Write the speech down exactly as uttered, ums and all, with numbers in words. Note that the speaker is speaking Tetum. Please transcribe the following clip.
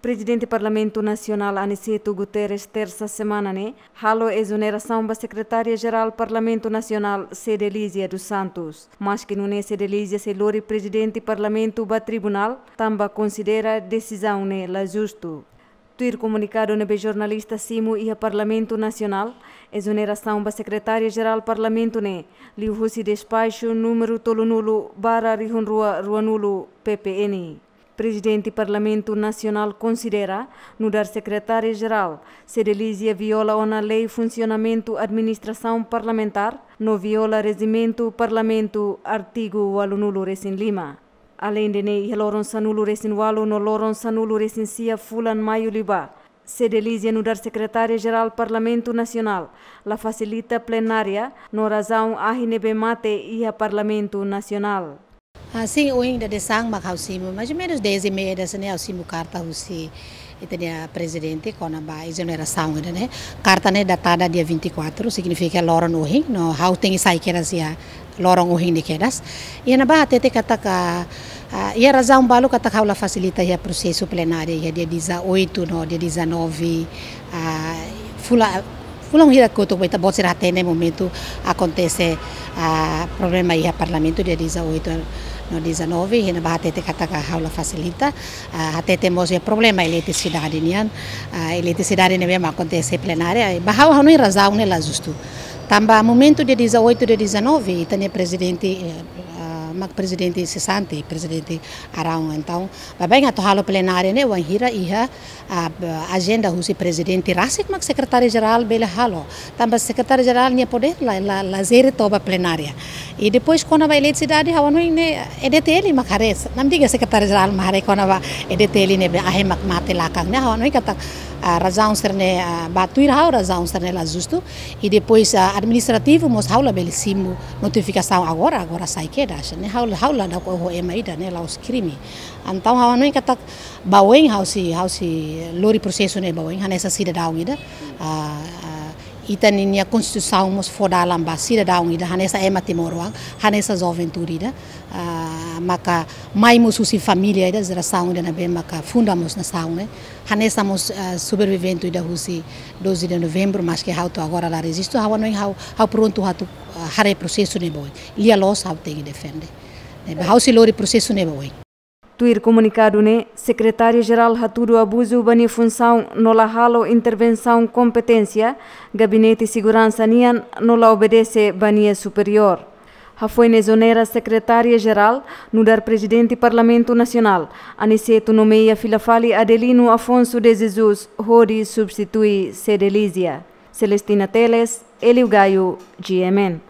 Prezidente Parlamentu Nasionál Aniceto Guterres tersa semana ne'e halo ezonerasaun ba Sekretária Jerál Parlamentu Nasionál Cedelízia dos Santos. Maske nune'e Cedelízia sei lori Prezidente Parlamentu ba tribunál, tanba konsidera desizaun ne'e la justu. Tuir komunikadu ne'ebé jornalista simu iha Parlamentu Nasionál, ezonerasaun ba Sekretária Jerál Parlamentu ne'e liuhusi despaxu númeru tolunulu barra rihun rua ruanulu P P N. Prezidente Parlamentu Nasionál konsidera nu'udar Sekretária Jerál Cedelízia viola ona Lei Funsionamentu Administrasaun Parlamentár no viola Rejimentu Parlamentu, artigu ualunulu resin lima. Aleinde ne'e, iha loron sanulu resin ualu no loron sanulu resin sia fulan Maiu liubá, Cedelízia nu'udar Sekretária Jerál Parlamentu Nasionál la fasilita plenária no razaun ahi ne'ebé mate iha Parlamentu Nasionál. Ah, sin, ohin dadeer-saan mak ha'u simu, mais ou menos dez e meia dadeer-saan ne'e ha'u simu karta husi ita-nia prezidente kona-ba ezonerasaun ida-ne'e. Karta ne'e datada dia vinte e quatro, signifika loron ohin, no ha'u tenke sai kedas iha loron ohin ne'e kedas. Iha ne'ebá hatete katak, ah, iha razaun balu katak ha'u la fasilita iha prosesu plenária iha dia dezoito no dia dezanove, ah, fula-, fulan hira kotuk ba ita-boot sira hatene momentu akontese, ah, problema iha Parlamentu dia dezoito no dezanove, iha ne'ebá hatete katak ha'u la fasilita, ah, hatete mós iha problema eletrisidade nian, ah, eletrisidade ne'ebé mak akontese plenária, ba ha'u hanoin razaun ne'e la justu. Tanba momentu dia dezoito, dia dezanove, ita-nia prezidente, eh, ah, mak prezidente sesante, Prezidente Araun, entaun, baibain atu halo plenária ne'e wainhira iha, ah, ajenda husi prezidente rasik mak Sekretária Jerál bele halo. Tanba Sekretária Jerál nia podér la, la, la jere to'o ba plenária. I depois kona-ba eletrisidade, ha'u hanoin ne'e E D T L mak haree, namdiga Sekretária Jerál mak haree kona-ba E D T L ne'ebé ahi mak mate lakan ne'e, ha'u hanoin katak, ah, razaun sira-ne'e, ah, ba tuir ha'u razaun sira-ne'e la justu. I depois, ah, administrativu mós ha'u labele simu notifikasaun agora, agora sai kedas ne'e, ha'u, ha'u la dau ko ho ema ida ne'e, la'ós krime. Entaun ha'u hanoin katak ba oin ha'u sei, ha'u sei lori prosesu ne'e ba oin, hanesan sidadaun ida. Ah, ah, ita-nia Konstituisaun mós fó dalan ba sidadaun ida, hanesan ema timoroan, hanesan juventude ida. Ah, maka mai mós husi família ida, jerasaun ida ne'ebé maka funda mós nasaun ne'e. Hanesan mós, ah, sobrevivente ida husi doze de Novembro, maske ha'u to'o agora la rejistu, ha'u hanoin ha'u, ha'u prontu atu, ah, haree prosesu ne'e ba oin. Lia loos ha'u tenke defende. Ne'ebé ha'u sei lori prosesu ne'e ba oin. Tuir komunikadu ne'e, Sekretária Jerál hatudu abuzu ba nia funsaun no la halo intervensaun kompeténsia, Gabinete Seguransa nian no la obedese ba nia superiór. Hafoin ezonera Sekretária Jerál, nu'udar Prezidente Parlamentu Nasionál, Aniceto nomeia fila fali Adelino Afonso de Jesus hodi substitui Cedelízia. Celestina Teles, Hélio Gaio, G M N.